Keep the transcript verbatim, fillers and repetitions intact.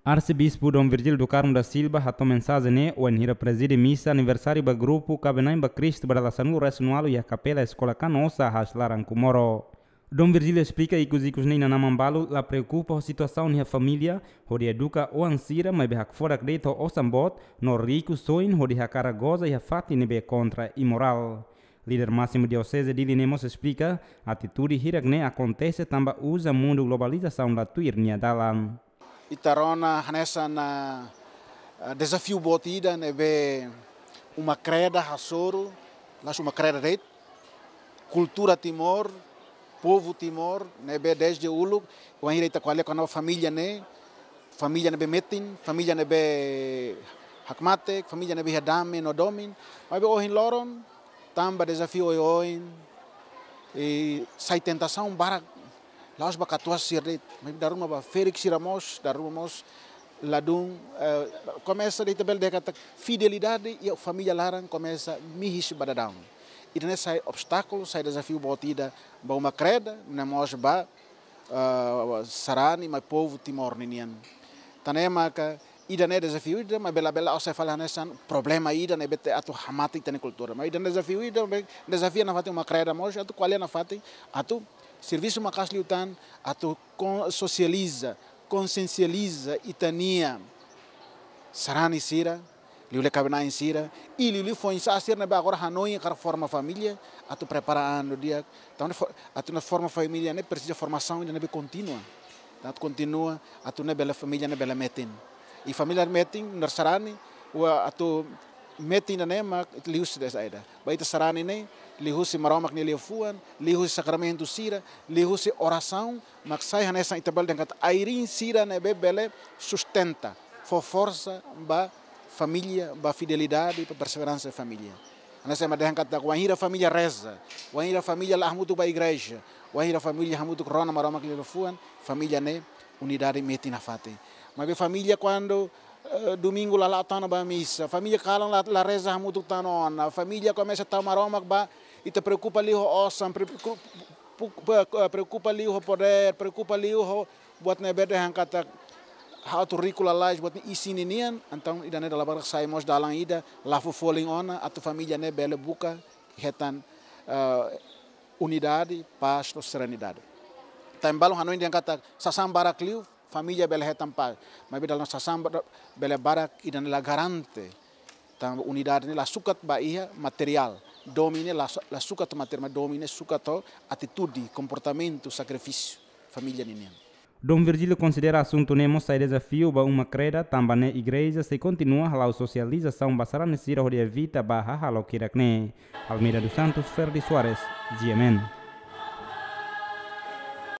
Arsebispu Dom Virgílio do Carmo da Silva hato'o mensajen ne'e wainhira prezide misa aniversáriu ba grupu Kaben-na'in ba Kristu ba dala sanulu-resin-ualu iha kapela Eskola Canossa, Aas Laran, Comoro. Dom Virgílio esplika ikus-ikus ne'e inan-aman balu la preokupa ho situasaun iha família hodi eduka oan sira, maibé hakfodak de'it ho osan boot no riku-soin hodi hakarak goza iha fatin ne'ebé kontra imorál. Líder másimu Dioseze Dili ne'e mós esplika, atitude hirak ne'e akontese tanba uza mundu globalizasaun la tuir nia dalan. Ita rona hanesan, ah, dezafiu boot ida ne'ebé uma kreda hasoru, la'ós uma kreda de'it, kultura Timor, povu Timor, ne'ebé dezde uluk, wainhira ita ko'alia kona-ba família ne'e, família ne'ebé metin, família ne'ebé hakmatek, família ne'ebé iha dame no domin, maibé ohin loron, tanba dezafiu oioin, i sai tentasaun barak, la'ós ba katuas sira de'it, maibé dala ruma ba ferik sira mós, dala ruma mós ladún, eh, komesa de'it, ita bele dehan katak fidelidade iha família laran komesa mihis ba daudaun. Ida-ne'e sai obstákulu, sai dezafiu boot ida ba uma kreda, no mós ba, eh, sarani, mai povu Timor ninian. Tan ne'e maka ida-ne'e dezafiu ida, maibé labele la'ós sai fali hanesan problema ida ne'ebé atu hamate ita-nia kultura. Maibé ida-ne'e dezafiu ida, maibé dezafia nafatin uma kreda mós, atu ko'alia nafatin, atu servisu maka'as liután, atu kon-, sosializa, konsiensializa ita-nia sarani sira, liuliu kaben-na'in sira, i liuliu foin-sa'e sira ne'ebé agora hanoin hakarak forma família, atu prepara an di'ak, tanba fo-, atu nu'udar forma família ne'e presiza formasaun ida ne'ebé kontínua. Atu kontinua, atu nune'e bele família ne'e bele metin. I família metin, nu'udar sarani, wa atu metin ida-ne'e mak liuhusi desa ida. Ba ita sarani ne'e, liuhusi Maromak nia liafuan, liuhusi sakramentu sira, liuhusi orasaun, mak sai hanesan ita bele dehan katak airin sira ne'ebé bele sustenta, fó forsa ba família, ba fidelidade, ba perseveransa família. Hanesan ema dehan katak wainhira família reza, wainhira família la'o hamutuk ba igreja, wainhira família hamutuk rona Maromak nia liafuan, família ne'e unidade metin nafatin. Maibé família kuandu, eh, domingu la la'o tan ona ba misa, família kalan la, la reza hamutuk tan ona, família komesa tau Maromak ba, ita preokupa liu ho osan, pre-, ku-, pu-, pu-, eh, preokupa liu ho podér, preokupa liu ho buat ne'ebé dehan katak ha'u atu riku lalais buat ne'e isin ninian, entaun ida-ne'e dala barak sai mós dalan ida, la fó folin ona, atu família ne'e bele buka, hetan, eh, unidade, pás no serenidade. Tan ne'e balu hanoin dehan katak sasán barak liu, família bele hetan pás. Maibé dala ruma sasán ba-, bele barak ida-ne'e la garante. Tanba unidade ne'e la sukat ba iha materiál. Domin ne'e la su-, la sukat materiál, maibé domin ne'e sukat ho atitude, komportamentu, sakrifísiu família ninian. Dom Virgílio konsidera asuntu ne'e mós sai dezafiu ba uma kreda, tanba ne'e igreja sei kontinua hala'o sosializasaun ba sarani sira hodi evita ba hahalok hirak ne'e. Almeida dos Santos, Ferdi Soares, G M N.